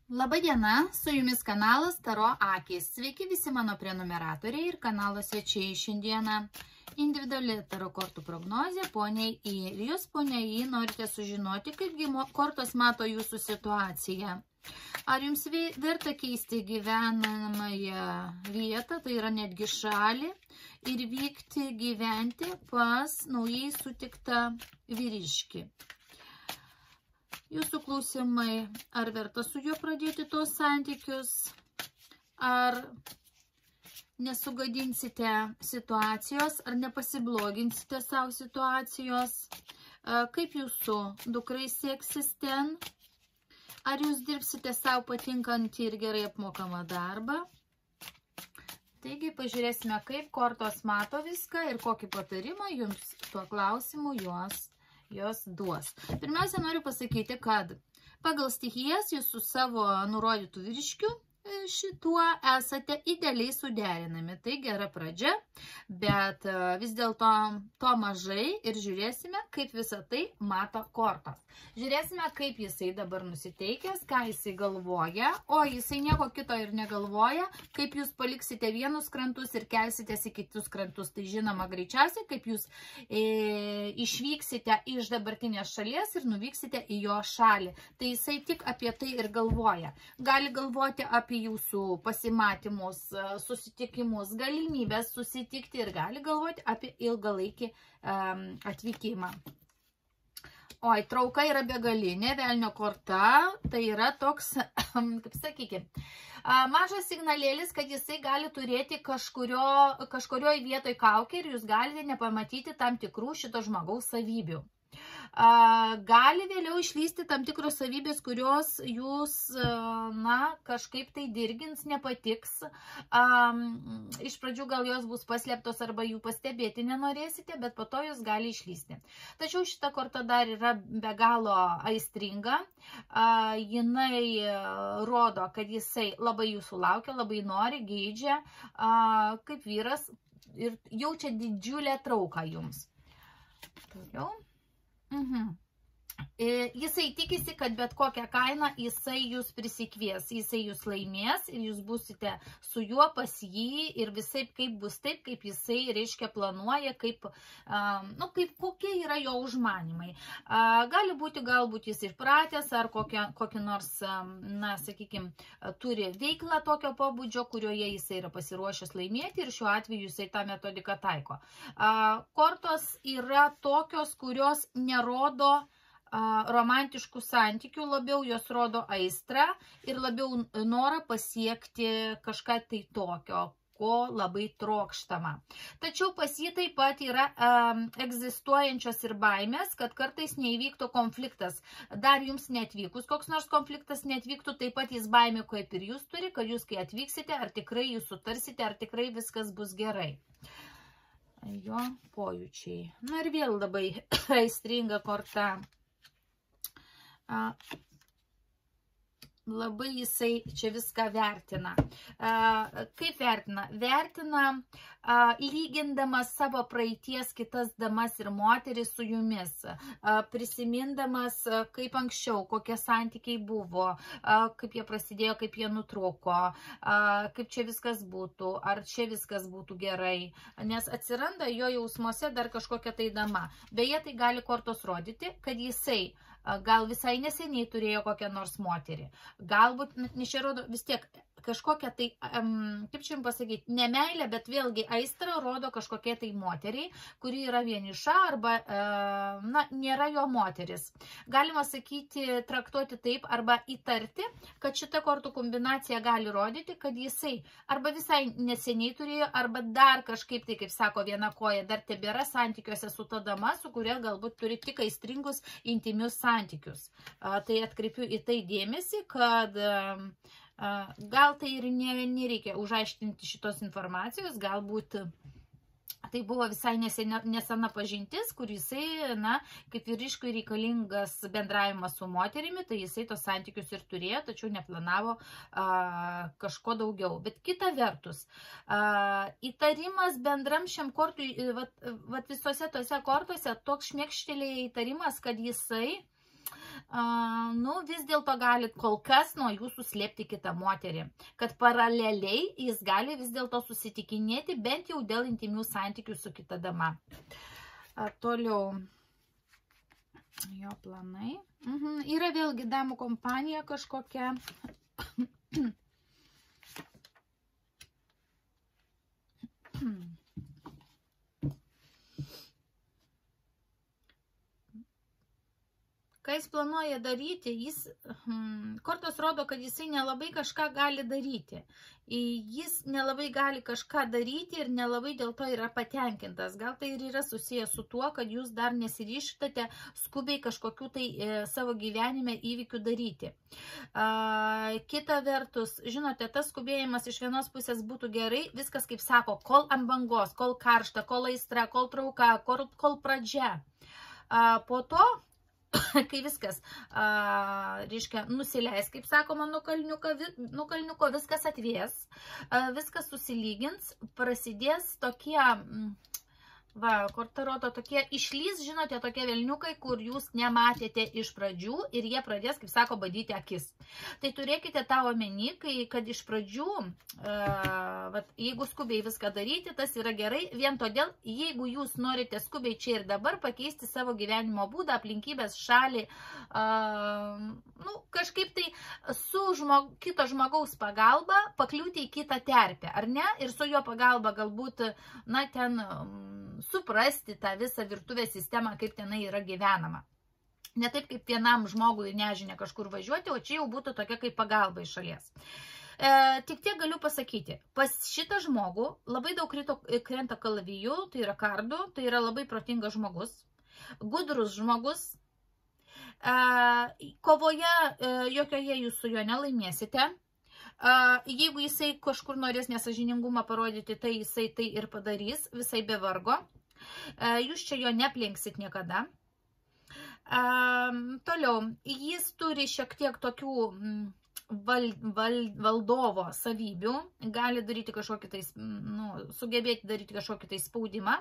Labadiena, su jumis kanalas Taro Akys. Sveiki visi mano prenumeratoriai ir kanalo svečiai. Šiandieną individuali taro kortų prognozė poniai I. Ir jūs, ponia I, norite sužinoti, kaipgi kortos mato jūsų situaciją. Ar jums verta keisti gyvenamąją vietą, tai yra netgi šalį, ir vykti gyventi pas naujai sutiktą vyriškį? Jūsų klausimai, ar verta su juo pradėti tos santykius, ar nesugadinsite situacijos, ar nepasigloginsite savo situacijos, kaip jūsų dukrai seksis ten, ar jūs dirbsite savo patinkantį ir gerai apmokamą darbą. Taigi pažiūrėsime, kaip kortos mato viską ir kokį patarimą jums tuo klausimu jos duos. Pirmiausia, noriu pasakyti, kad pagal stichijas jūs su savo nurodytų vyriškiu šituo esate idealiai suderinami. Tai gera pradžia, bet vis dėlto to mažai ir žiūrėsime, kaip visą tai mato kortos. Žiūrėsime, kaip jisai dabar nusiteikęs, ką jisai galvoja, o jisai nieko kito ir negalvoja, kaip jūs paliksite vienus krantus ir kelsitės į kitus krantus. Tai žinoma greičiausiai, kaip jūs išvyksite iš dabartinės šalies ir nuvyksite į jo šalį. Tai jisai tik apie tai ir galvoja. Gali galvoti apie jūsų pasimatymus, susitikimus, galimybės susitikti ir gali galvoti apie ilgalaikį atvykimą. Oi, trauka yra begalinė, velnio korta, tai yra toks, kaip sakykime, mažas signalėlis, kad jisai gali turėti kažkurioj vietoj kaukę ir jūs galite nepamatyti tam tikrų šito žmogaus savybių. Gali vėliau išlysti tam tikros savybės, kurios jūs, kažkaip tai dirgins, nepatiks. Iš pradžių gal jos bus paslėptos arba jų pastebėti nenorėsite, bet po to jūs gali išlysti. Tačiau šita korta dar yra be galo aistringa. Jinai rodo, kad jisai labai jūsų laukia, labai nori, geidžia, kaip vyras ir jaučia didžiulę trauką jums. Toliau. Jisai tikisi, kad bet kokią kainą jisai jūs prisikvies, jisai jūs laimės ir jūs būsite su juo pas jį ir visaip kaip bus taip, kaip jisai, reiškia, planuoja, kokie yra jo užmanimai. Gali būti, galbūt jis išpratęs ar kokį nors, sakykime, turi veiklą tokio pobūdžio, kurioje jisai yra pasiruošęs laimėti ir šiuo atveju jisai tą metodiką taiko. Kortos yra tokios, kurios nerodo romantiškų santykių, labiau jos rodo aistrą ir labiau norą pasiekti kažką tai tokio, ko labai trokštama. Tačiau pas jį taip pat yra egzistuojančios ir baimės, kad kartais neįvyktų konfliktas. Dar jums neatvykus koks nors konfliktas neatvyktų, taip pat jis baimė, kaip ir jūs turi, kad jūs kai atvyksite, ar tikrai jūs sutarsite, ar tikrai viskas bus gerai. Jo pojūčiai. Na ir vėl labai aistringa korta. Labai jisai čia viską vertina. Kaip vertina? Vertina lygindamas savo praeities kitas damas ir moteris su jumis, prisimindamas kaip anksčiau, kokie santykiai buvo, kaip jie prasidėjo, kaip jie nutrūko, kaip čia viskas būtų, ar čia viskas būtų gerai, nes atsiranda jo jausmuose dar kažkokia tai dama. Beje, tai gali kortos rodyti, kad jisai gal visai neseniai turėjo kokią nors moterį. Galbūt, nes čia rodo vis tiek kažkokia tai, kaip čia jums pasakyti, ne meilė, bet vėlgi aistra rodo kažkokie tai moteriai, kuri yra vieniša arba, nėra jo moteris. Galima sakyti, traktuoti taip arba įtarti, kad šita kortų kombinacija gali rodyti, kad jisai arba visai neseniai turėjo, arba dar kažkaip tai, kaip sako, viena koja dar tebėra santykiuose su ta dama, su kuria galbūt turi tik aistringus, intimius santykius. Tai atkreipiu į tai dėmesį, kad gal tai ir nereikia užaiškinti šitos informacijos, galbūt tai buvo visai nesena pažintis, kur jisai, kaip vyriškui reikalingas bendravimas su moterimi, tai jisai tos santykius ir turėjo, tačiau neplanavo kažko daugiau. Bet kita vertus, įtarimas bendram šiam kortui, visose tose kortose, toks šmėkštelėja įtarimas, kad jisai vis dėlto galit kol kas nuo jūsų slėpti kitą moterį, kad paraleliai jis gali vis dėlto susitikinėti bent jau dėl intimių santykių su kita dama. Toliau jo planai. Yra vėlgi damų kompanija kažkokia. Ką jis planuoja daryti, kortos rodo, kad jisai nelabai kažką gali daryti. Jis nelabai gali kažką daryti ir nelabai dėl to yra patenkintas. Gal tai ir yra susijęs su tuo, kad jūs dar nesiryštate skubiai kažkokių tai savo gyvenime įvykių daryti. Kita vertus, žinote, tas skubėjimas iš vienos pusės būtų gerai, viskas kaip sako, kol ant bangos, kol karšta, kol aistra, kol trauka, kol pradžia. Po to, kai viskas, reiškia, nusileis, kaip sakoma, nuo kalniuko viskas atvės, viskas susilygins, prasidės tokie, kortaroto tokie išlys, žinote, tokie velniukai, kur jūs nematėte iš pradžių ir jie pradės, kaip sako, badyti akis. Tai turėkite tą omeny, kad iš pradžių, jeigu skubiai viską daryti, tas yra gerai, vien todėl, jeigu jūs norite skubiai čia ir dabar pakeisti savo gyvenimo būdą, aplinkybės, šalį, kažkaip tai su kito žmogaus pagalba pakliūti į kitą terpę, ar ne? Ir su jo pagalba galbūt, ten suprasti tą visą virtuvės sistemą, kaip tenai yra gyvenama. Ne taip, kaip vienam žmogui nežinia kažkur važiuoti, o čia jau būtų tokia kaip pagalba iš šalies. Tik tiek galiu pasakyti, pas šitą žmogų labai daug krenta kalavijų, tai yra kardų, tai yra labai protingas žmogus, gudrus žmogus. Kovoje jokioje jūs su juo nelaimėsite. Jeigu jisai kažkur norės nesažiningumą parodyti, tai jisai tai ir padarys, visai be vargo. Jūs čia jo neplenksit niekada. Toliau, jis turi šiek tiek tokių valdovo savybių, gali daryti kažkokį tai, sugebėti daryti kažkokį tai spaudimą.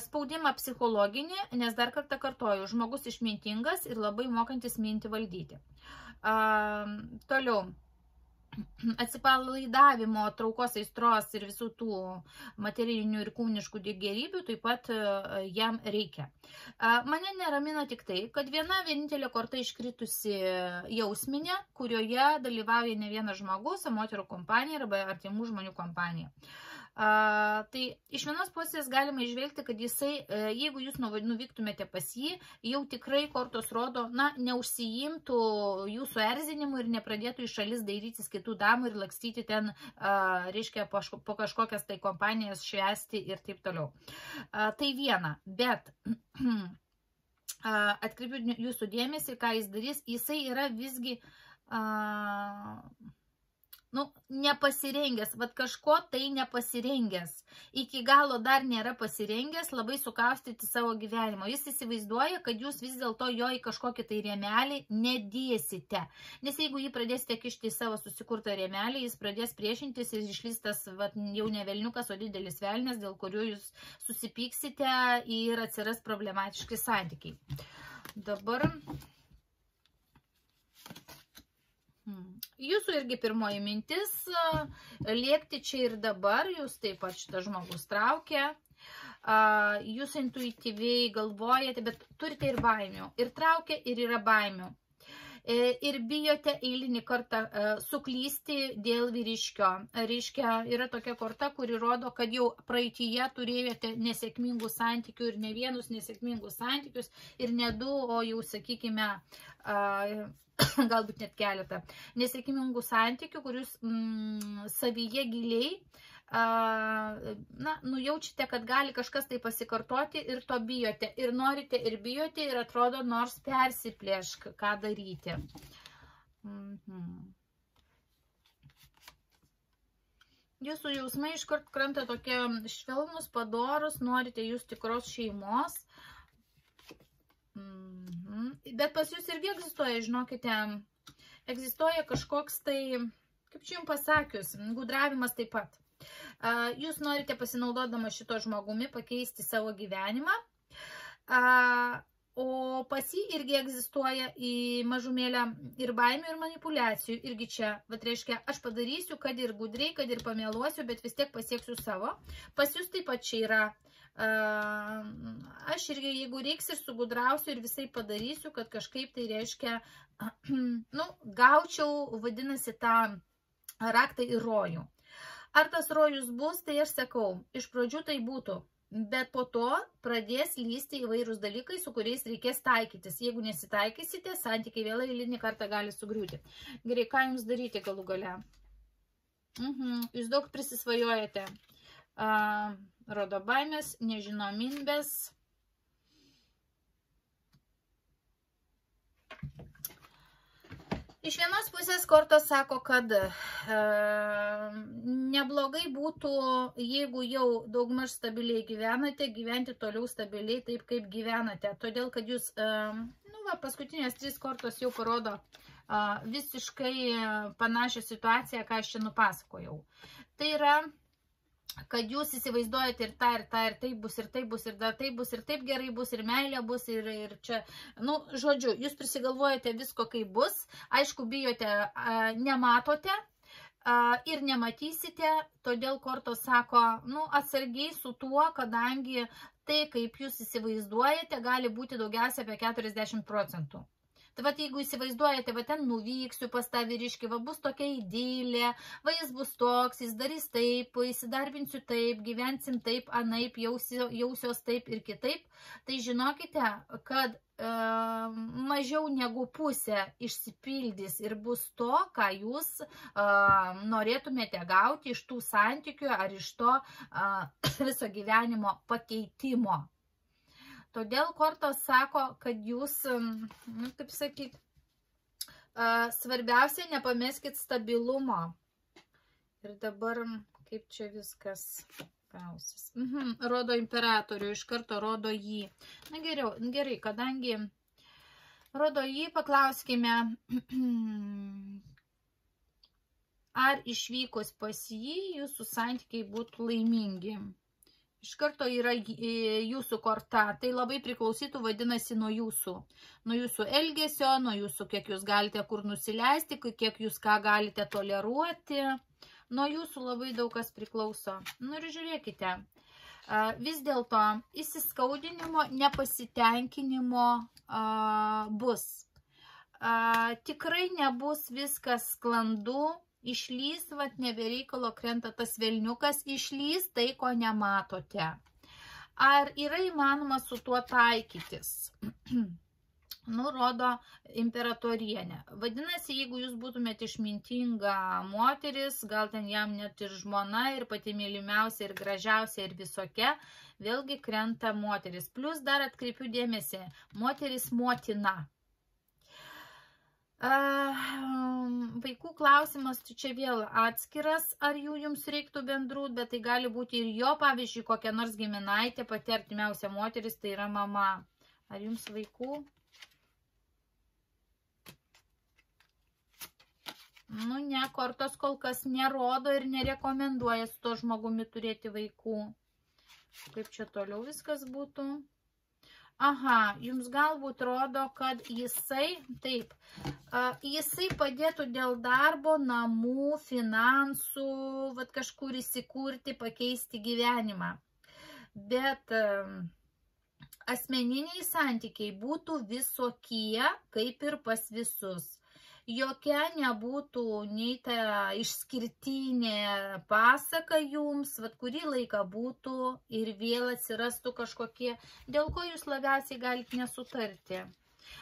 Spaudimą psichologinį, nes dar kartą kartoju, žmogus išmintingas ir labai mokantis mintį valdyti. Toliau. Atsipalaidavimo, traukos, aistros ir visų tų materialinių ir kūniškų gėrybių taip pat jam reikia. Mane neramina tik tai, kad vienintelė korta iškritusi jausminė, kurioje dalyvauja ne vienas žmogus, moterų kompanija arba artimų žmonių kompanija. Tai iš vienos pusės galima išvelgti, kad jisai, jeigu jūs nuvyktumėte pas jį, jau tikrai kortos rodo, neužsiimtų jūsų erzinimu ir nepradėtų iš šalis dairytis kitų damų ir lakstyti ten, reiškia, po kažkokias tai kompanijas švęsti ir taip toliau. Tai viena, bet atkreipiu jūsų dėmesį, ką jis darys, jisai yra visgi nepasirengęs, kažko tai nepasirengęs, iki galo dar nėra pasirengęs labai sukaustyti savo gyvenimo. Jis įsivaizduoja, kad jūs vis dėlto jo į kažkokį tai rėmelį nedėsite. Nes jeigu jį pradėsite kišti į savo susikurtą rėmelį, jis pradės priešintis ir išlys tas jau ne velniukas, o didelis velnės, dėl kurių jūs susipyksite ir atsiras problematiški santykiai. Dabar jūsų irgi pirmoji mintis, liekti čia ir dabar, jūs taip pat šitas žmogus traukia, jūs intuityviai galvojate, bet turite ir baimių, ir traukia, ir yra baimių. Ir bijote eilinį kartą suklysti dėl vyriškio. Reiškia, yra tokia korta, kuri rodo, kad jau praeityje turėjote nesėkmingų santykių ir ne vienus nesėkmingus santykius ir ne du, o jau, sakykime, galbūt net keletą nesėkmingų santykių, kurius savyje giliai nujaučiate, kad gali kažkas tai pasikartoti ir to bijote. Ir norite, ir bijote, ir atrodo, nors persiplėšk, ką daryti. Jūsų jausmai iškart krenta tokie švelnus, padorus, norite jūs tikros šeimos. Bet pas jūs irgi egzistuoja, žinokite, egzistuoja kažkoks tai, kaip čia jums pasakius, gudravimas taip pat. Jūs norite pasinaudodama šito žmogumi pakeisti savo gyvenimą, O pas jį irgi egzistuoja į mažumėlę ir baimių, ir manipulacijų. Irgi čia, vat reiškia, aš padarysiu, kad ir gudriai, kad ir pamėluosiu, bet vis tiek pasieksiu savo. Pas jūs taip pat čia yra. Aš irgi, jeigu reiks, ir sugudrausiu ir visai padarysiu, kad kažkaip tai reiškia, nu, gaučiau, vadinasi, tą raktą į rojų. Ar tas rojus bus, tai aš sakau, iš pradžių tai būtų. Bet po to pradės lysti įvairūs dalykai, su kuriais reikės taikytis. Jeigu nesitaikysite, santykiai vėl eilinį kartą gali sugriūti. Gerai, ką jums daryti galų gale? Jūs daug prisisvajojate. Rodo baimės, nežinomybės. Iš vienos pusės kortos sako, kad neblogai būtų, jeigu jau daugmaž stabiliai gyvenate, gyventi toliau stabiliai taip, kaip gyvenate. Todėl, kad jūs, nu va, paskutinės 3 kortos jau parodo visiškai panašią situaciją, ką aš čia nupasakojau. Tai yra, kad jūs įsivaizduojate ir tą, ir tą, ir taip bus, ir taip bus, ir dar taip bus, ir taip gerai bus, ir meilė bus, ir čia, nu, žodžiu, jūs prisigalvojate visko, kaip bus, aišku, bijote, nematote ir nematysite, todėl kortos sako, nu, atsargiai su tuo, kadangi tai, kaip jūs įsivaizduojate, gali būti daugiausia apie 40%. Tai va, jeigu įsivaizduojate, va ten nuvyksiu pas tą vyriškį, va bus tokia idylė, va jis bus toks, jis darys taip, įsidarbinsiu taip, gyvensim taip, anaip, jausios taip ir kitaip, tai žinokite, kad mažiau negu pusė išsipildys ir bus to, ką jūs norėtumėte gauti iš tų santykių ar iš to viso gyvenimo pakeitimo. Todėl kortos sako, kad jūs, nu, kaip sakyt, svarbiausia, nepameskit stabilumo. Ir dabar, kaip čia viskas gausis. Rodo imperatorių, iš karto rodo jį. Na gerai, kadangi rodo jį, paklauskime, ar išvykus pas jį, jūsų santykiai būtų laimingi. Iš karto yra jūsų korta, tai labai priklausytų, vadinasi, nuo jūsų elgesio, nuo jūsų, kiek jūs galite kur nusileisti, kiek jūs ką galite toleruoti, nuo jūsų labai daug kas priklauso. Nu ir žiūrėkite, vis dėlto įsiskaudinimo, nepasitenkinimo bus. Tikrai nebus viskas sklandu. Išlys, vat nebereikalo krenta tas velniukas, išlys tai, ko nematote. Ar yra įmanoma su tuo taikytis? Nurodo imperatorienė. Vadinasi, jeigu jūs būtumėte išmintinga moteris, gal ten jam net ir žmona, ir pati mylimiausia, ir gražiausia, ir visokia, vėlgi krenta moteris. Plus dar atkreipiu dėmesį, moteris motina. Vaikų klausimas čia vėl atskiras, ar jums reiktų bendrų, bet tai gali būti ir jo, pavyzdžiui, kokia nors giminaitė, pati artimiausia moteris, tai yra mama. Ar jums vaikų? Nu ne, kortos kol kas nerodo ir nerekomenduoja su to žmogumi turėti vaikų. Kaip čia toliau viskas būtų? Aha, jums galbūt rodo, kad jisai, taip, jisai padėtų dėl darbo, namų, finansų, vat kažkur įsikurti, pakeisti gyvenimą. Bet asmeniniai santykiai būtų visokie, kaip ir pas visus. Jokia nebūtų nei ta išskirtinė pasaka jums, vat kurį laiką būtų ir vėl atsirastų kažkokie, dėl ko jūs labiausiai galite nesutarti.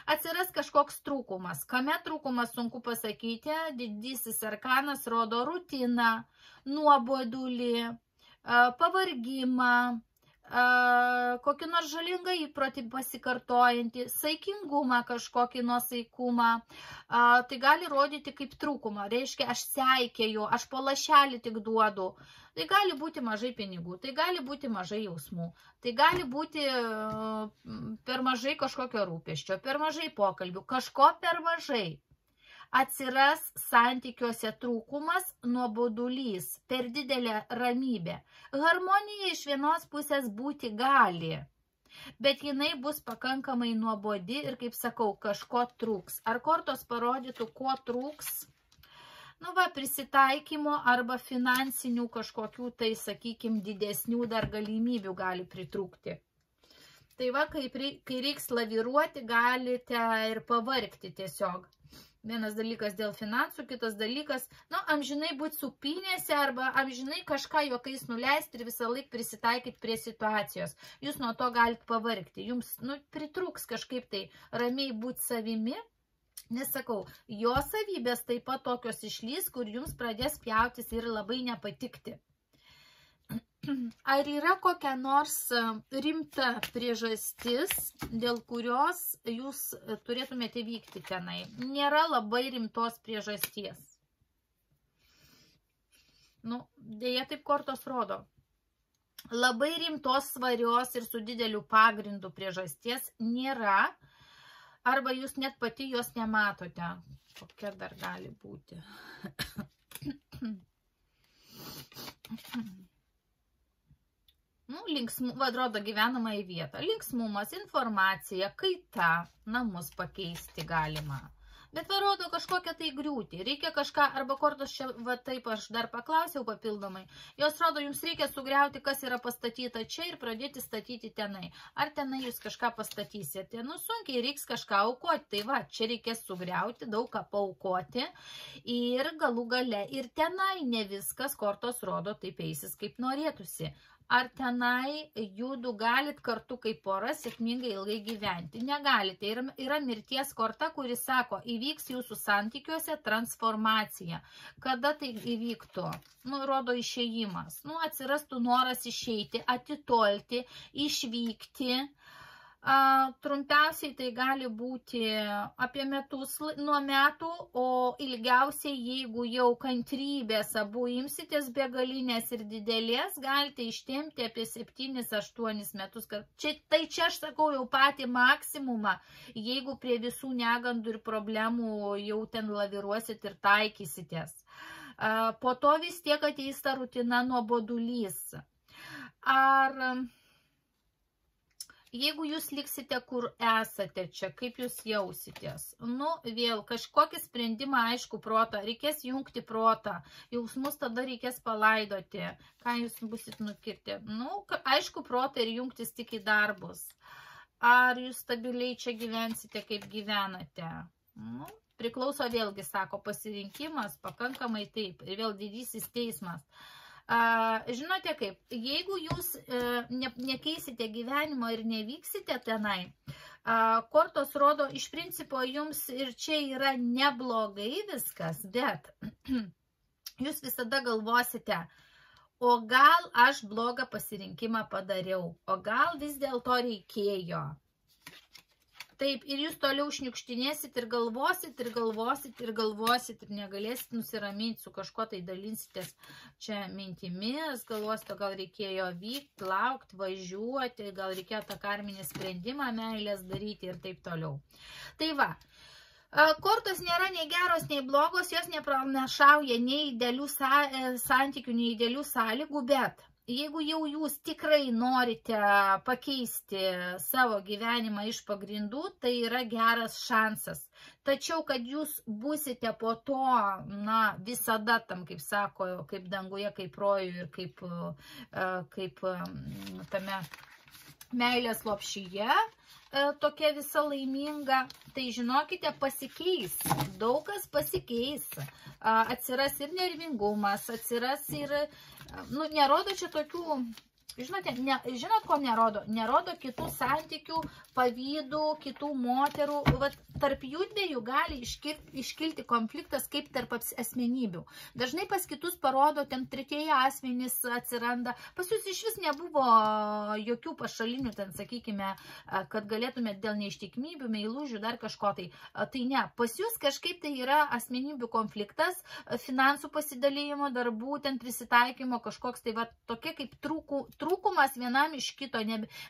Atsiras kažkoks trūkumas. Kame trūkumas sunku pasakyti, didysis arkanas rodo rutiną, nuobodulį, pavargimą, kokį nors žalingą įprotį pasikartojantį, saikingumą kažkokį nuosaikumą, tai gali rodyti kaip trūkumą. Reiškia, aš seikėju, aš po lašelį tik duodu. Tai gali būti mažai pinigų, tai gali būti mažai jausmų, tai gali būti per mažai kažkokio rūpesčio, per mažai pokalbių, kažko per mažai. Atsiras santykiuose trūkumas, nuobodulys, per didelė ramybė. Harmonija iš vienos pusės būti gali, bet jinai bus pakankamai nuobodi ir, kaip sakau, kažko trūks. Ar kortos parodytų, ko trūks? Nu va, prisitaikymo arba finansinių kažkokių, tai, sakykime, didesnių dar galimybių gali pritrūkti. Tai va, kai reiks laviruoti, galite ir pavargti tiesiog. Vienas dalykas dėl finansų, kitas dalykas, nu, amžinai būti supinėse arba amžinai kažką juokais nuleisti ir visą laiką prisitaikyti prie situacijos. Jūs nuo to galite pavargti. Jums, nu, pritrūks kažkaip tai ramiai būti savimi. Nesakau, jo savybės taip pat tokios išlys, kur jums pradės pjautis ir labai nepatikti. Ar yra kokia nors rimta priežastis, dėl kurios jūs turėtumėte vykti tenai? Nėra labai rimtos priežasties. Nu, dėja taip kortos rodo. Labai rimtos, svarios ir su dideliu pagrindu priežasties nėra. Arba jūs net pati jos nematote. Kokia dar gali būti? Nu, atrodo gyvenamą į vietą. Linksmumas, informacija, kaita, namus pakeisti galima. Bet varodo kažkokią tai griūtį. Reikia kažką, arba kortos čia, va taip aš dar paklausiau papildomai. Jos rodo, jums reikia sugriauti, kas yra pastatyta čia ir pradėti statyti tenai. Ar tenai jūs kažką pastatysite? Nu, sunkiai reiks kažką aukoti. Tai va, čia reikės sugriauti, daug ką paaukoti. Ir galų gale ir tenai ne viskas kortos rodo taip eisis, kaip norėtųsi. Ar tenai jūdu galit kartu kaip pora sėkmingai ilgai gyventi? Negalite. Yra mirties korta, kuris sako, įvyks jūsų santykiuose transformacija. Kada tai įvyktų? Nu, rodo išėjimas. Nu, atsirastų noras išeiti, atitolti, išvykti. Trumpiausiai tai gali būti apie metus nuo metų, o ilgiausiai, jeigu jau kantrybės abu imsitės begalinės ir didelės, galite ištempti apie 7-8 metus. Tai čia aš sakau jau patį maksimumą, jeigu prie visų negandų ir problemų jau ten laviruosit ir taikysitės. Po to vis tiek ateis ta rutina nuobodulys. Ar... Jeigu jūs liksite, kur esate čia, kaip jūs jausitės? Nu, vėl, kažkokį sprendimą, aišku, protą. Reikės jungti protą. Jausmus tada reikės palaidoti. Ką jūs busit nukirti? Nu, aišku, protą ir jungtis tik į darbus. Ar jūs stabiliai čia gyvensite, kaip gyvenate? Nu, priklauso vėlgi, sako, pasirinkimas, pakankamai taip. Ir vėl didysis teismas. Žinote kaip, jeigu jūs nekeisite gyvenimo ir nevyksite tenai, kortos rodo, iš principo jums ir čia yra neblogai viskas, bet jūs visada galvosite, o gal aš blogą pasirinkimą padariau, o gal vis dėlto reikėjo. Taip, ir jūs toliau šniukštinėsit ir galvosit, ir galvosit, ir galvosit, ir negalėsit nusiraminti su kažko, tai dalinsitės čia mintimis, galvosite, gal reikėjo vykti, laukti, važiuoti, gal reikėjo tą karminį sprendimą meilės daryti ir taip toliau. Tai va, kortos nėra nei geros, nei blogos, jos nepranašauja nei idealių santykių, nei idealių sąlygų, bet jeigu jau jūs tikrai norite pakeisti savo gyvenimą iš pagrindų, tai yra geras šansas. Tačiau, kad jūs būsite po to, na, visada tam, kaip sako, kaip danguje, kaip rojuje ir kaip tame meilės lopšyje, tokia visa laiminga, tai žinokite, pasikeis, daug kas pasikeis, atsiras ir nervingumas, atsiras ir, nu, nerodo čia tokių, žinot, ko nerodo? Nerodo kitų santykių, pavydų, kitų moterų, tarp jų dviejų gali iškilti konfliktas kaip tarp asmenybių. Dažnai pas kitus parodo, ten tretieji asmenys atsiranda, pas jūs iš vis nebuvo jokių pašalinių, ten sakykime, kad galėtumėt dėl neištikimybių, meilužių, dar kažko tai. Tai ne, pas jūs kažkaip tai yra asmenybių konfliktas, finansų pasidalymo, darbų, ten prisitaikymo, kažkoks tai va tokie kaip trūkumas vienam iš kito,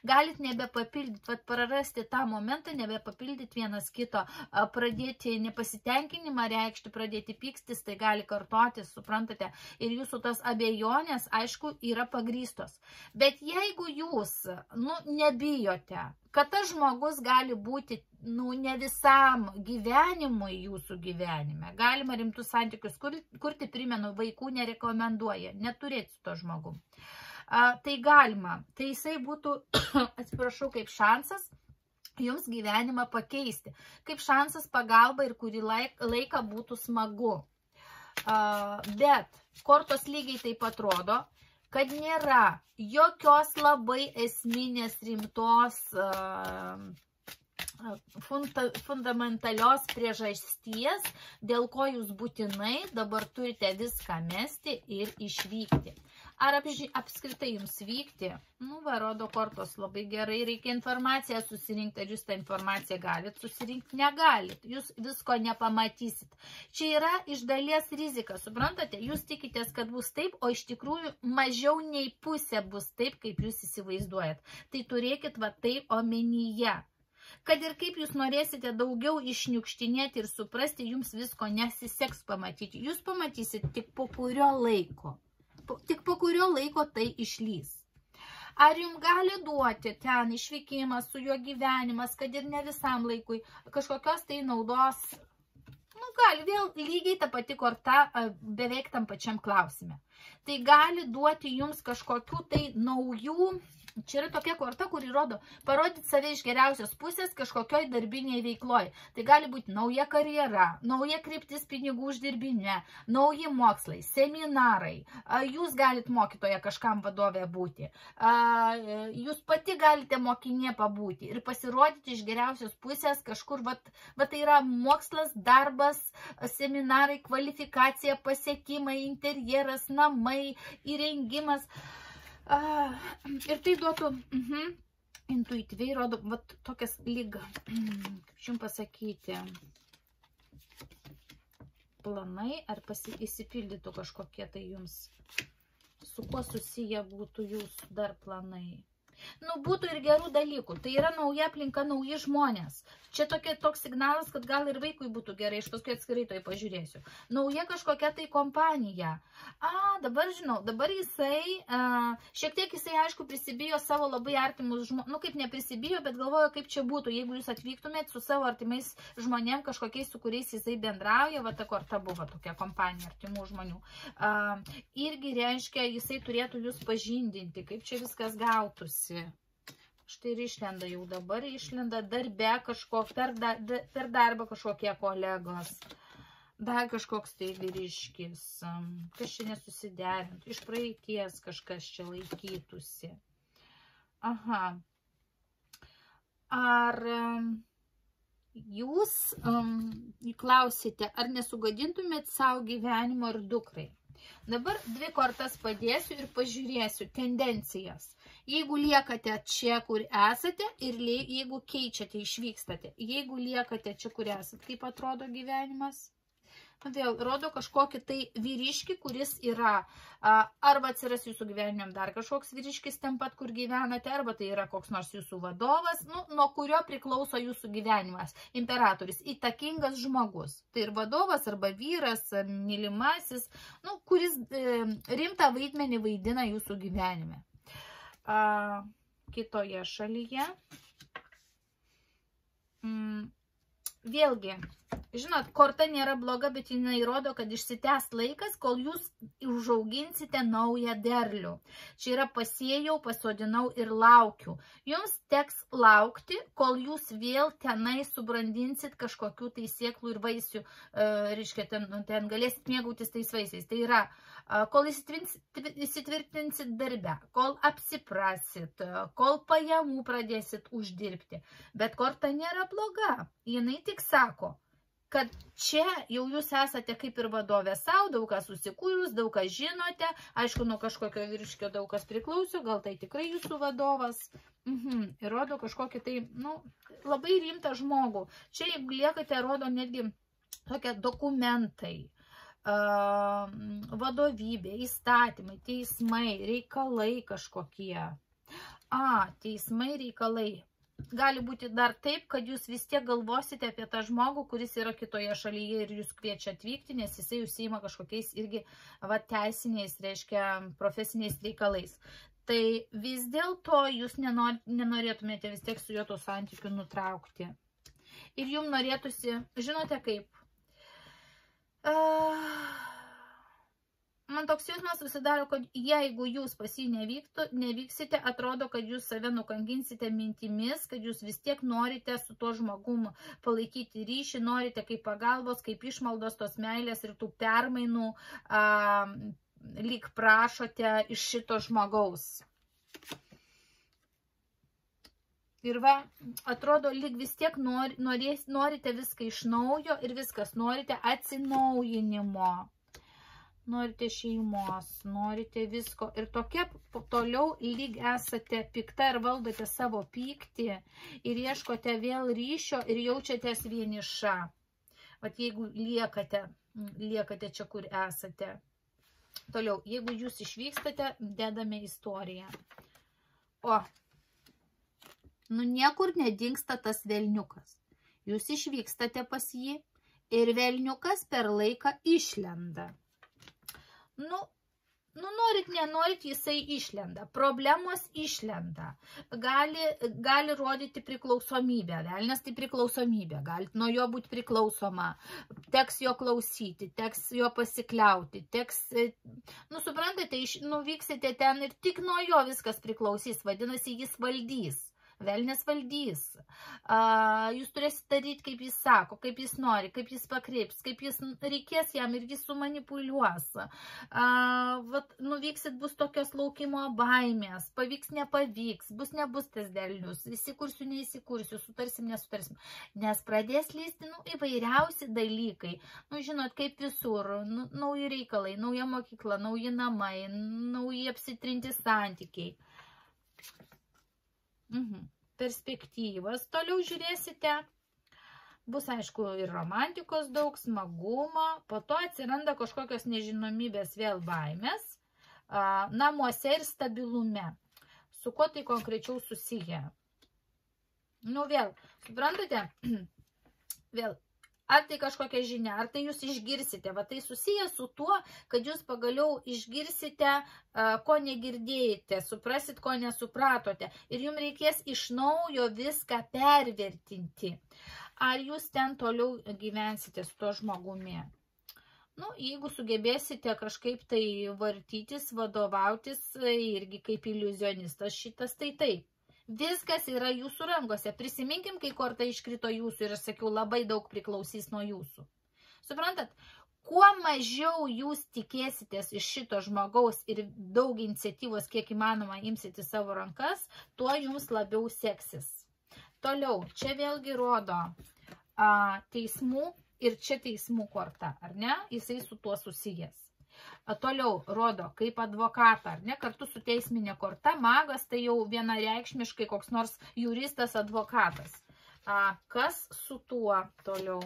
galit nebepapildyti, vat prarasti tą momentą, nebepapildyti vienas kito, pradėti nepasitenkinimą reikšti, pradėti pykstis, tai gali kartotis, suprantate, ir jūsų tos abejonės, aišku, yra pagrįstos. Bet jeigu jūs, nebijote, kad tas žmogus gali būti, ne visam gyvenimui jūsų gyvenime. Galima rimtus santykius kurti, primenu, vaikų nerekomenduoja, neturėti su to žmogum. Tai galima, tai jisai būtų, atsiprašau, kaip šansas jums gyvenimą pakeisti, kaip šansas pagalba ir kurį laiką būtų smagu. Bet kortos lygiai taip atrodo, kad nėra jokios labai esminės rimtos fundamentalios priežasties, dėl ko jūs būtinai dabar turite viską mesti ir išvykti. Ar apskritai jums vykti? Rodo kortos labai gerai, reikia informaciją susirinkti, ar jūs tą informaciją galit susirinkti, negalit, jūs visko nepamatysit. Čia yra iš dalies rizika, suprantate, jūs tikitės, kad bus taip, o iš tikrųjų mažiau nei pusė bus taip, kaip jūs įsivaizduojat. Tai turėkit tai omenyje. Kad ir kaip jūs norėsite daugiau išniukštinėti ir suprasti, jums visko nesiseks pamatyti. Jūs pamatysit tik po kurio laiko. Tik po kurio laiko tai išlys. Ar jums gali duoti ten išvykimas su juo gyvenimas, kad ir ne visam laikui, kažkokios tai naudos, gali vėl lygiai ta pati korta beveik tam pačiam klausime. Tai gali duoti jums kažkokių tai naujų. Čia yra tokia korta, kuri rodo parodyti save iš geriausios pusės kažkokioj darbinėje veikloje. Tai gali būti nauja karjera, nauja kryptis pinigų uždirbinė, nauji mokslai, seminarai. Jūs galite mokytoje kažkam vadovė būti. Jūs pati galite mokinė pabūti ir pasirodyti iš geriausios pusės kažkur. Tai yra mokslas, darbas, seminarai, kvalifikacija, pasiekimai, interjeras, namai, įrengimas. Ir tai duotų, intuityviai rodo, tokias lyg, kaip jums pasakyti, planai, ar įsipildytų kažkokie tai jums, su kuo susiję būtų jūsų dar planai. Būtų ir gerų dalykų. Tai yra nauja aplinka, nauji žmonės. Čia toks signalas, kad gal ir vaikui būtų gerai, aš paskui atskirai to pažiūrėsiu. Nauja kažkokia tai kompanija. Dabar žinau, dabar jisai, šiek tiek jisai, aišku, prisibijo savo labai artimus žmonės, kaip neprisibijo, bet galvoju, kaip čia būtų, jeigu jūs atvyktumėt su savo artimais žmonėm, kažkokiais, su kuriais jisai bendrauja, ta korta buvo tokia kompanija artimų žmonių. Irgi reiškia, jisai turėtų jūs pažindinti, kaip čia viskas gautųsi. Štai ir išlenda jau dabar, išlenda darbe kažkoks, per darbą kažkokie kolegos, dar kažkoks tai vyriškis, kas čia nesusiderintų, iš praeities kažkas čia laikytųsi. Ar jūs klausite, ar nesugadintumėt savo gyvenimo ir dukrai? Dabar dvi kortas padėsiu ir pažiūrėsiu tendencijas. Jeigu liekate čia, kur esate, ir jeigu keičiate, išvykstate. Jeigu liekate čia, kur esate, kaip atrodo gyvenimas? Vėl rodo kažkokį tai vyriškį, kuris yra, arba atsiras jūsų gyvenime dar kažkoks vyriškis ten pat, kur gyvenate, arba tai yra koks nors jūsų vadovas, nuo kurio priklauso jūsų gyvenimas. Imperatorius, įtakingas žmogus. Tai ir vadovas, arba vyras, mylimasis, kuris rimtą vaidmenį vaidina jūsų gyvenime. Kitoje šalyje. Vėlgi, žinot, korta nėra bloga, bet jinai rodo, kad išsitęs laikas, kol jūs užauginsite naują derlių. Čia yra pasėjau, pasodinau ir laukiu. Jums teks laukti, kol jūs vėl tenai subrandinsit kažkokių tai sėklų ir vaisių, reiškia, ten galėsit mėgautis tais vaisiais. Tai yra, kol įsitvirtinsit darbe, kol apsiprasit, kol pajamų pradėsit uždirbti. Bet korta nėra bloga. Jinai tik sako, kad čia jau jūs esate kaip ir vadovė savo, daug kas susikūrus, daug kas žinote, aišku, nuo kažkokio vyriškio daug kas priklauso, gal tai tikrai jūsų vadovas. Ir rodo kažkokį tai, labai rimtą žmogų. Čia, jeigu liekate, rodo netgi tokie dokumentai, vadovybė, įstatymai, teismai, reikalai kažkokie. Teismai, reikalai. Gali būti dar taip, kad jūs vis tiek galvosite apie tą žmogų, kuris yra kitoje šalyje ir jūs kviečia atvykti, nes jisai užsiima kažkokiais irgi teisiniais, reiškia, profesiniais reikalais. Tai vis dėlto jūs nenorėtumėte vis tiek su juo to santykių nutraukti. Ir jums norėtųsi, žinote kaip, man toks jausmas susidaro, kad jeigu jūs pas jį nevyksite, atrodo, kad jūs save nukankinsite mintimis, kad jūs vis tiek norite su tuo žmogum palaikyti ryšį, norite kaip pagalbos, kaip išmaldos tos meilės ir tų permainų, lyg prašote iš šito žmogaus. Ir atrodo, lyg vis tiek norite viską iš naujo ir viskas, norite atsinaujinimo. Norite šeimos, norite visko ir tokia toliau lyg esate pikta ir valdote savo pyktį ir ieškote vėl ryšio ir jaučiatės vieniša. Vat jeigu liekate čia, kur esate. Toliau, jeigu jūs išvykstate, dedame istoriją. Niekur nedingsta tas velniukas. Jūs išvykstate pas jį ir velniukas per laiką išlenda. Norit, nenorit, jisai išlenda. Problemos išlenda. Gali rodyti priklausomybę. Velnias tai priklausomybė. Galite nuo jo būti priklausoma. Teks jo klausyti, teks jo pasikliauti. Suprantate, nuvyksite ten ir tik nuo jo viskas priklausys. Vadinasi, jis valdys. Velnias valdys. Jūs turėsite daryti, kaip jis sako, kaip jis nori, kaip jis pakreips, kaip jis reikės jam ir jis sumanipuliuos. Nuvyksit, bus tokios laukimo baimės, pavyks, nepavyks, nebus tas derlius, įsikursiu, neįsikursiu, sutarsim, nesutarsim. Nes pradės lysti įvairiausi dalykai. Žinot, kaip visur, nauji reikalai, nauja mokykla, nauji namai, nauji apsitrinti santykiai. Perspektyvas. Toliau žiūrėsite, bus aišku ir romantikos daug, smagumo, po to atsiranda kažkokios nežinomybės vėl baimės, namuose ir stabilume. Su kuo tai konkrečiau susiję? Vėl, suprantate, vėl, ar tai kažkokia žinia, ar tai jūs išgirsite, tai susiję su tuo, kad jūs pagaliau išgirsite, ko negirdėjate, suprasit, ko nesupratote ir jums reikės iš naujo viską pervertinti. Ar jūs ten toliau gyvensite su to žmogumi? Jeigu sugebėsite kažkaip tai vartytis, vadovautis, irgi kaip iliuzionistas šitas, tai taip. Viskas yra jūsų rankose. Prisiminkim, kai korta iškrito jūsų ir aš sakiau, labai daug priklausys nuo jūsų. Suprantat, kuo mažiau jūs tikėsitės iš šito žmogaus ir daug iniciatyvos, kiek įmanoma, imsite savo rankas, tuo jums labiau seksis. Toliau, čia vėlgi rodo teismų ir čia teismų korta, ar ne? Jisai su tuo susijęs. Toliau rodo kaip advokatą, ar ne, kartu su teisminė korta, magas tai jau vienareikšmiškai koks nors juristas advokatas. Kas su tuo toliau?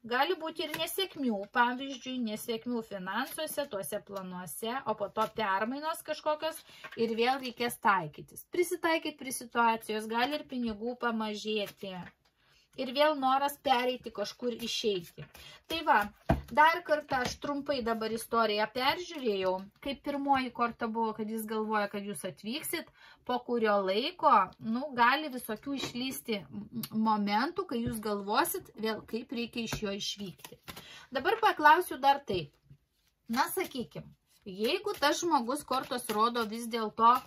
Gali būti ir nesėkmių, pavyzdžiui, nesėkmių finansuose, tuose planuose, o po to permainos kažkokios ir vėl reikės taikytis. Prisitaikyti prie situacijos, gali ir pinigų pamažėti. Ir vėl noras pereiti kažkur išeiti. Tai dar kartą aš trumpai dabar istoriją peržiūrėjau, kaip pirmoji korta buvo, kad jis galvoja, kad jūs atvyksit, po kurio laiko, gali visokių išlysti momentų, kai jūs galvosit vėl, kaip reikia iš jo išvykti. Dabar paklausiu dar taip. Sakykim, jeigu tas žmogus kortos rodo vis dėlto,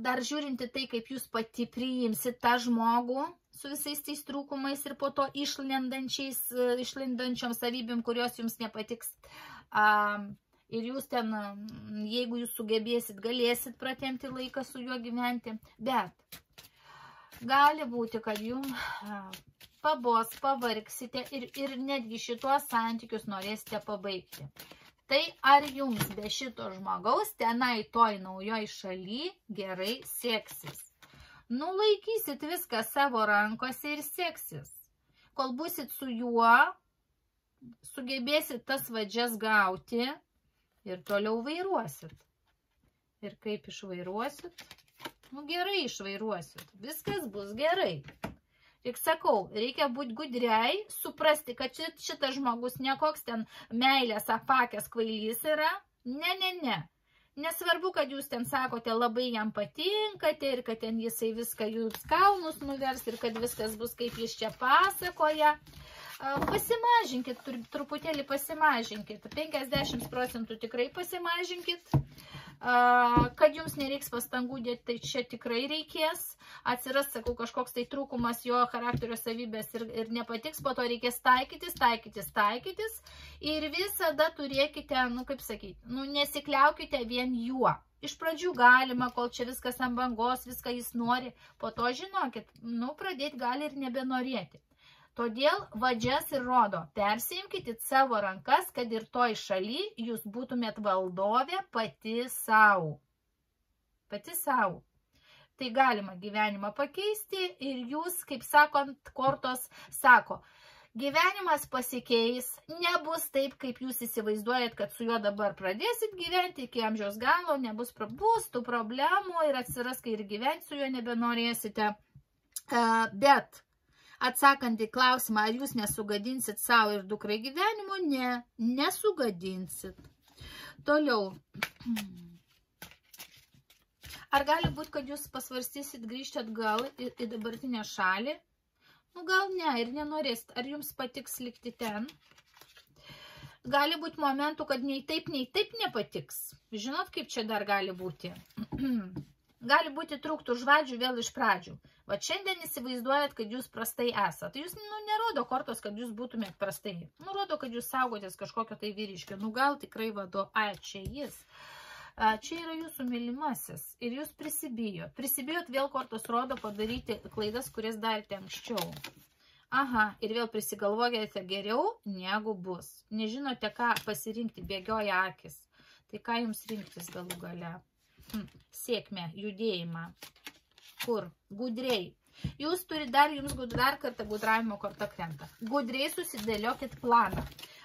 dar žiūrinti tai, kaip jūs pati priimsit tą žmogų, su visais tais trūkumais ir po to išlindančiom savybėm, kurios jums nepatiks. Ir jūs ten, jeigu jūs sugebėsit, galėsit pratempti laiką su juo gyventi. Bet gali būti, kad jums pabos, pavargsite ir netgi šitos santykius norėsite pabaigti. Tai ar jums be šito žmogaus tenai toj naujoj šaly gerai seksis? Laikysit viską savo rankose ir seksis. Kol būsit su juo, sugebėsit tas vadžias gauti ir toliau vairuosit. Ir kaip išvairuosit? Nu, gerai išvairuosit. Viskas bus gerai. Tik sakau, reikia būti gudriai, suprasti, kad šitas žmogus nekoks ten meilės apakęs kvailys yra. Ne. Nesvarbu, kad jūs ten sakote, labai jam patinkate ir kad ten jisai viską jūs kaunus nuvers ir kad viskas bus kaip jis čia pasakoja. Pasimažinkit, truputėlį pasimažinkit. 50% tikrai pasimažinkit. Kad jums nereiks pastangų dėti, tai čia tikrai reikės. Atsiras, sakau, kažkoks tai trūkumas jo charakterio savybės ir nepatiks, po to reikės taikytis. Ir visada turėkite, nu kaip sakyti, nu nesikliaukite vien juo. Iš pradžių galima, kol čia viskas ant bangos, viską jis nori, po to žinokit, nu pradėti gali ir nebenorėti. Todėl vadžias ir rodo, persiimkite savo rankas, kad ir toj šaly jūs būtumėt valdovė pati savo. Pati savo. Tai galima gyvenimą pakeisti ir jūs, kaip sakant, kortos sako, gyvenimas pasikeis, nebus taip, kaip jūs įsivaizduojat, kad su juo dabar pradėsit gyventi iki amžiaus galo, bus tų problemų ir atsiras, kai ir gyventi su juo nebenorėsite. Bet atsakant į klausimą, ar jūs nesugadinsit savo ir dukrai gyvenimo, nesugadinsit. Toliau. Ar gali būti, kad jūs pasvarstysit grįžti atgal į dabartinę šalį? Nu, gal ne ir nenorėsit. Ar jums patiks likti ten? Gali būti momentų, kad nei taip nepatiks. Žinot, kaip čia dar gali būti? Gali būti trūktų žvadžių vėl iš pradžių. Va šiandien įsivaizduojat, kad jūs prastai esat. Jūs, nerodo kortos, kad jūs būtumėt prastai. Rodo, kad jūs saugotės kažkokio tai vyriškio. Gal tikrai vado, čia jis. Čia yra jūsų mylimasis. Ir jūs prisibijot. Prisibijot vėl kortos rodo padaryti klaidas, kurias darėte anksčiau. Aha, ir vėl prisigalvokite geriau, negu bus. Nežinote, ką pasirinkti, bėgioja akis. Tai ką jums rinktis galų gale? Sėkmę, judėjimą. Kur? Gudriai. Jūs turi jums dar kartą gudravimo korta krenta. Gudriai susidėliokit planą.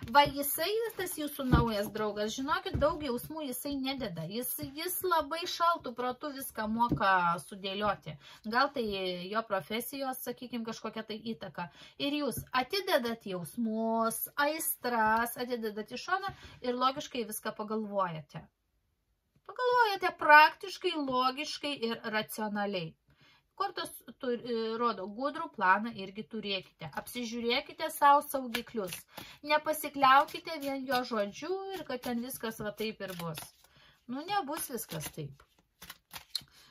Va jisai, tas jūsų naujas draugas, žinokit, daug jausmų jisai nededa. Jis labai šaltų protų viską moka sudėlioti. Gal tai jo profesijos, sakykime, kažkokia tai įtaka. Ir jūs atidedat jausmus, aistras, atidedat į šoną ir logiškai viską pagalvojate. Pagalvojate praktiškai, logiškai ir racionaliai. Kortos rodo, gudrų planą irgi turėkite. Apsižiūrėkite savo saugiklius. Nepasikliaukite vien jo žodžiu ir kad ten viskas va taip ir bus. Nu, nebus viskas taip.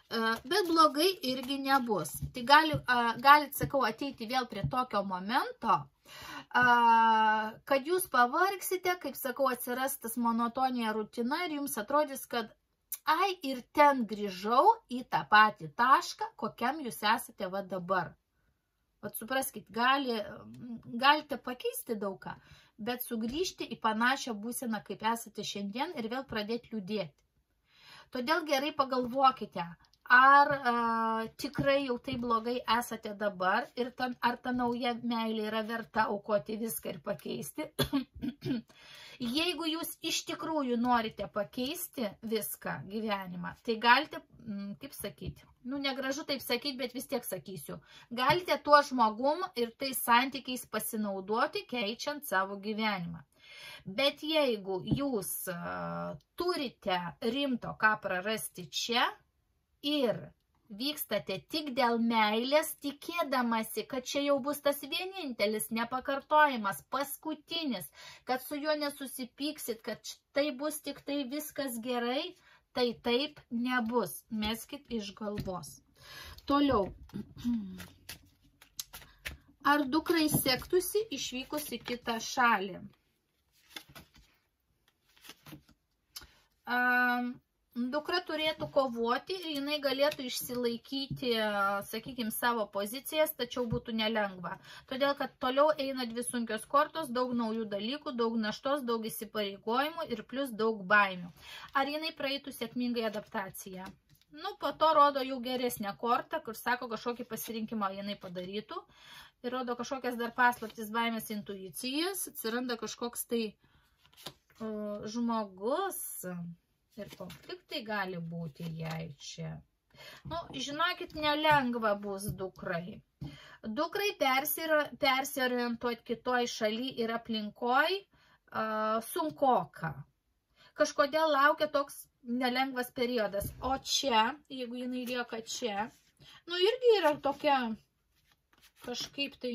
Bet blogai irgi nebus. Tai galit, sakau, ateiti vėl prie tokio momento, kad jūs pavargsite, kaip sakau, atsiras tas monotonija rutina ir jums atrodys, kad ir ten grįžau į tą patį tašką, kokiam jūs esate va dabar. Vat supraskit, galite pakeisti daugą, bet sugrįžti į panašią būseną, kaip esate šiandien ir vėl pradėti liūdėti. Todėl gerai pagalvokite, ar tikrai jau tai blogai esate dabar ir ar ta nauja meilė yra verta aukoti viską ir pakeisti. Jeigu jūs iš tikrųjų norite pakeisti viską gyvenimą, tai galite, kaip sakyti, negražu taip sakyti, bet vis tiek sakysiu, galite tuo žmogum ir tais santykiais pasinaudoti, keičiant savo gyvenimą. Bet jeigu jūs turite rimto ką prarasti čia ir vykstate tik dėl meilės, tikėdamasi, kad čia jau bus tas vienintelis, nepakartojimas, paskutinis, kad su juo nesusipyksit, kad tai bus tik tai viskas gerai, tai taip nebus. Meskit iš galvos. Toliau. Ar dukrai sektųsi išvykus į kitą šalį? Dukra turėtų kovoti ir jinai galėtų išsilaikyti, sakykime, savo pozicijas, tačiau būtų nelengva. Todėl, kad toliau eina dvi sunkios kortos, daug naujų dalykų, daug naštos, daug įsipareigojimų ir plus daug baimių. Ar jinai praeitų sėkmingai adaptaciją? Po to rodo jau geresnę kortą, kur sako, kažkokį pasirinkimą jinai padarytų. ir rodo kažkokias dar paslaptis, baimės, intuicijas, atsiranda kažkoks tai žmogus ir konfliktai gali būti jai čia. Nu, žinokit, nelengva bus dukrai. Dukrai persiorientuoti kitoj šaly ir aplinkoj sunkoka. Kažkodėl laukia toks nelengvas periodas. O čia, jeigu jinai lieka čia, nu irgi yra tokia kažkaip tai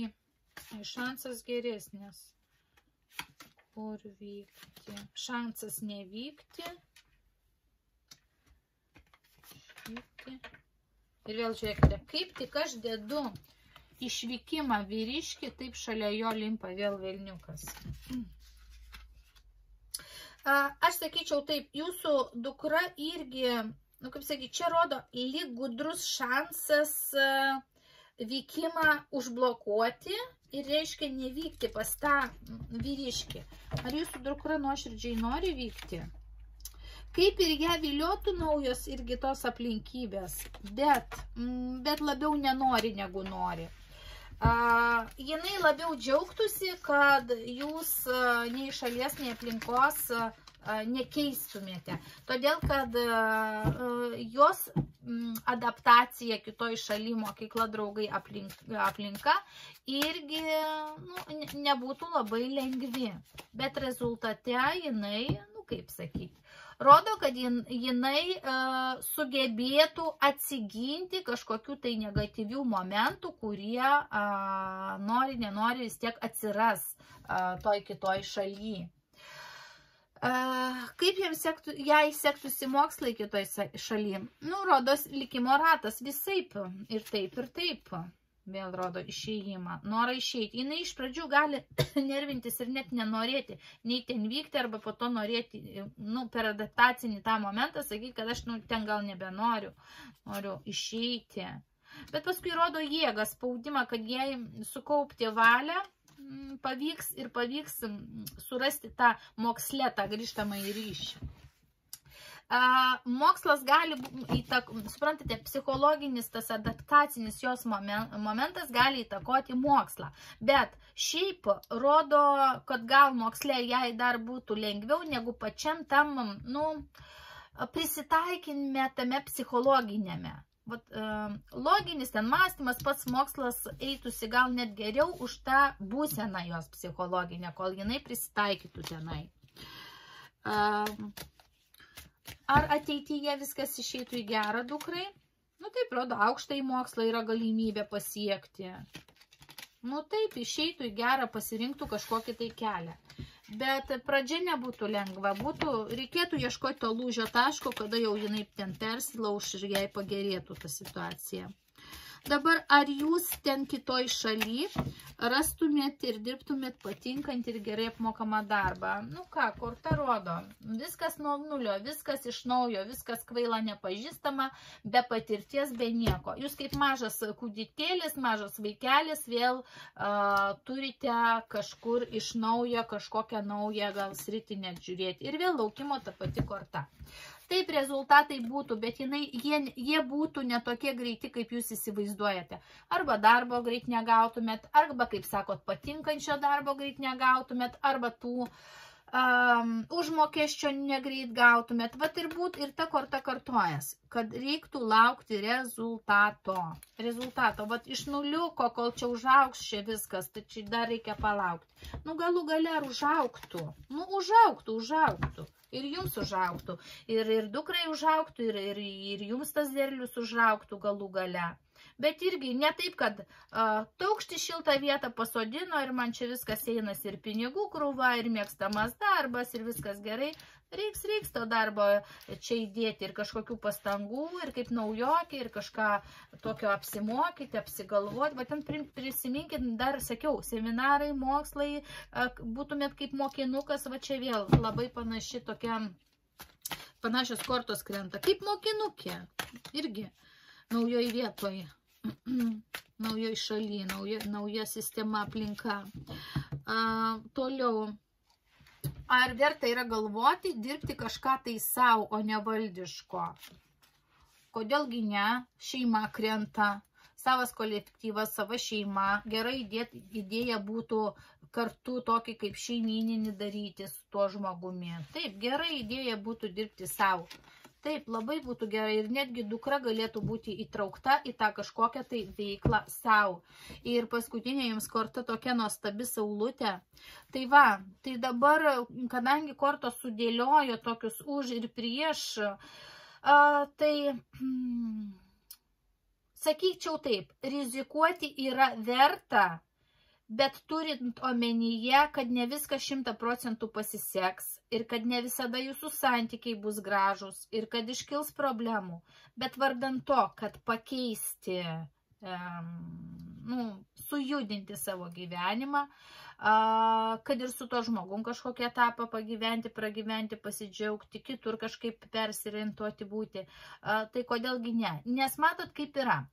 šansas geresnis. Kur vykti? Šansas nevykti. Ir vėl žiūrėkite, kaip tik aš dedu išvykimą vyriškį, taip šalia jo limpa vėl velniukas. Aš sakyčiau taip, jūsų dukra irgi, nu kaip sakyti, čia rodo lyg gudrus šansas vykimą užblokuoti ir reiškia nevykti pas tą vyriškį. Ar jūsų dukra nuoširdžiai nori vykti? Kaip ir ją viliotų naujos irgi tos aplinkybės, bet labiau nenori negu nori. Jinai labiau džiaugtųsi, kad jūs nei šalies, nei aplinkos nekeistumėte. Todėl, kad jos adaptacija kitoj šaly, mokykla, draugai, aplinka irgi nebūtų labai lengvi. Bet rezultate jinai, nu kaip sakyti, rodo, kad jinai sugebėtų atsiginti kažkokių tai negatyvių momentų, kurie nori, nenori vis tiek atsiras toj kitoj šaly. Kaip jai sektųsi mokslai kitoj šaly? Nu, rodos likimo ratas visaip ir taip, ir taip. Vėl rodo išėjimą, norą išeiti. Jinai iš pradžių gali nervintis ir net nenorėti, nei ten vykti, arba po to norėti, nu, per adaptacinį tą momentą, sakyti, kad aš ten gal nebenoriu, noriu išeiti. Bet paskui rodo jėgą, spaudimą, kad jai sukaupti valią pavyks ir pavyks surasti tą moksle, tą grįžtamą į ryšį. Mokslas gali, suprantate, psichologinis, tas adaptacinis jos momentas gali įtakoti mokslą. Bet šiaip rodo, kad gal moksle jai dar būtų lengviau negu pačiam tam, nu, prisitaikime tame psichologinėme. Loginis ten mąstymas, pats mokslas eitųsi gal net geriau už tą būseną jos psichologinę, kol jinai prisitaikytų tenai. Ar ateityje viskas išeitų į gerą dukrai? Nu taip, rodo, aukštą į mokslą yra galimybė pasiekti. Nu taip, išeitų į gerą, pasirinktų kažkokį tai kelią. Bet pradžia nebūtų lengva, reikėtų ieškoti to lūžio taško, kada jau jinai ten persilauš ir jai pagerėtų ta situacija. Dabar, ar jūs ten kitoj šaly rastumėt ir dirbtumėt patinkant ir gerai apmokamą darbą? Nu ką, korta rodo, viskas nuo nulio, viskas iš naujo, viskas kvaila nepažįstama, be patirties, be nieko. Jūs kaip mažas kūdikėlis, mažas vaikelis vėl turite kažkur iš naujo, kažkokią naują gal sritį net žiūrėti. Ir vėl laukimo ta pati korta. Taip rezultatai būtų, bet jie būtų netokie greiti, kaip jūs įsivaizduojate. Arba darbo greit negautumėt, arba, kaip sakot, patinkančio darbo greit negautumėt, arba tų užmokesčio negreit gautumėt. Vat ir būtų ir ta korta kartojas, kad reiktų laukti rezultato. Vat iš nuliuko, kol čia užaugs čia viskas, tai čia dar reikia palaukti. Nu galų gale ar užaugtų? Nu užaugtų. Ir jums užaugtų, ir dukrai užaugtų, ir jums tas derlius užaugtų galų gale. Bet irgi ne taip, kad taukšti šiltą vietą pasodino ir man čia viskas einas ir pinigų krūva, ir mėgstamas darbas, ir viskas gerai. Reiks to darbo čia įdėti ir kažkokių pastangų, ir kaip naujokį, ir kažką tokio apsimokyti, apsigalvoti. Va ten prisiminkit, dar sakiau, seminarai, mokslai, būtumėt kaip mokinukas, va čia vėl labai panašios kortos krenta. Kaip mokinukė, irgi naujoj vietoj, naujoj šaly, nauja sistema, aplinka. Toliau. Ar verta yra galvoti, dirbti kažką tai savo, o ne valdiško? Kodėlgi ne? Šeima krenta, savas kolektyvas, sava šeima. Gera idėja būtų kartu tokį kaip šeimyninį daryti su tuo žmogumi. Taip, gera idėja būtų dirbti savo. Taip, labai būtų gerai ir netgi dukra galėtų būti įtraukta į tą kažkokią tai veiklą savo. Ir paskutinė jums korta tokia nuostabi saulutė. Tai va, tai dabar, kadangi kortos sudėliojo tokius už ir prieš, tai sakyčiau taip, rizikuoti yra verta, bet turint omenyje, kad ne viskas 100% pasiseks ir kad ne visada jūsų santykiai bus gražus ir kad iškils problemų, bet vardan to, kad pakeisti, sujudinti savo gyvenimą, kad ir su to žmogum kažkokią etapą pagyventi, pragyventi, pasidžiaugti, kitur kažkaip persiorientuoti būti, tai kodėlgi ne? Nes matot, kaip yra.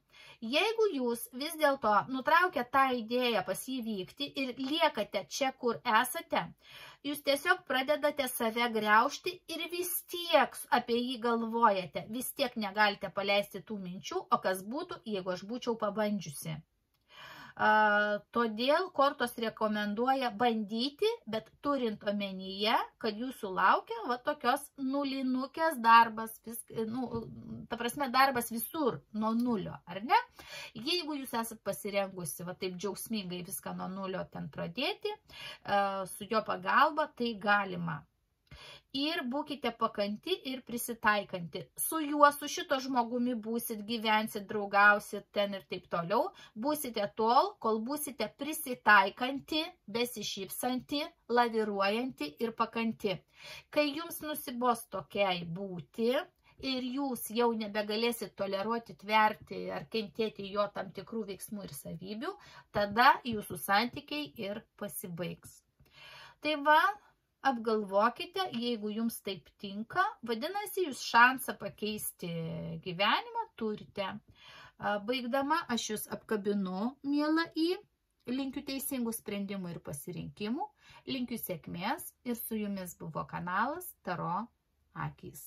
Jeigu jūs vis dėlto nutraukia tą idėją pas jį vykti ir liekate čia, kur esate, jūs tiesiog pradedate save griaužti ir vis tiek apie jį galvojate, vis tiek negalite paleisti tų minčių, o kas būtų, jeigu aš būčiau pabandžiusi. Todėl kortos rekomenduoja bandyti, bet turint omenyje, kad jūsų laukia va tokios nulinukės darbas, ta prasme darbas visur nuo nulio, ar ne? Jeigu jūs esat pasirengusi va taip džiaugsmingai viską nuo nulio ten pradėti, su jo pagalba, tai galima. Ir būkite pakanti ir prisitaikanti. Su juo, su šito žmogumi būsit, gyvensit, draugausit ten ir taip toliau. Būsite tol, kol būsite prisitaikanti, besišypsanti, laviruojanti ir pakanti. Kai jums nusibos tokiai būti ir jūs jau nebegalėsit toleruoti, tverti ar kentėti jo tam tikrų veiksmų ir savybių, tada jūsų santykiai ir pasibaigs. Tai va, apgalvokite, jeigu jums taip tinka, vadinasi, jūs šansą pakeisti gyvenimą turite. Baigdama, aš jūs apkabinu, miela į, linkiu teisingų sprendimų ir pasirinkimų, linkiu sėkmės ir su jumis buvo kanalas Taro akys.